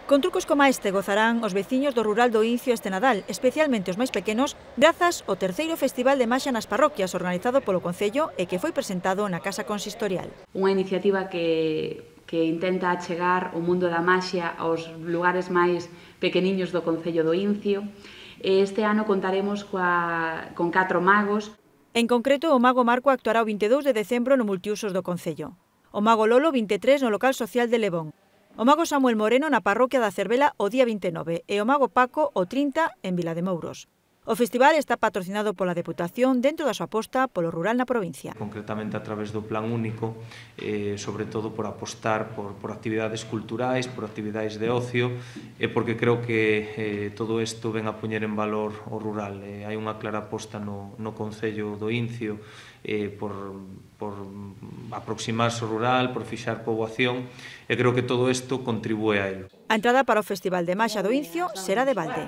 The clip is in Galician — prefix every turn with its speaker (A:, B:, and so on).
A: Con trucos como este gozarán os veciños do rural do Incio este Nadal, especialmente os máis pequenos, grazas ao terceiro Festival de Maxia nas parroquias organizado polo Concello e que foi presentado na Casa Consistorial.
B: Unha iniciativa que intenta achegar o mundo da maxia aos lugares máis pequeniños do Concello do Incio. Este ano contaremos con 4 magos.
A: En concreto, o mago Marco actuará o 22 de decembro no multiusos do Concello. O mago Lolo, 23, no local social de Lebón. O mago Samuel Moreno na parroquia da Cervela o día 29 e o mago Paco o 30 en Vilademouros. O festival está patrocinado pola Deputación dentro da súa aposta polo rural na provincia.
C: Concretamente a través do Plan Único, sobre todo por apostar por actividades culturais, por actividades de ocio, e porque creo que todo isto ven a poñer en valor o rural. Hai unha clara aposta no Concello do Incio por aproximarse ao rural, por fixar poboación, e creo que todo isto contribúe a ello.
A: A entrada para o Festival de Maxia do Incio será de balde.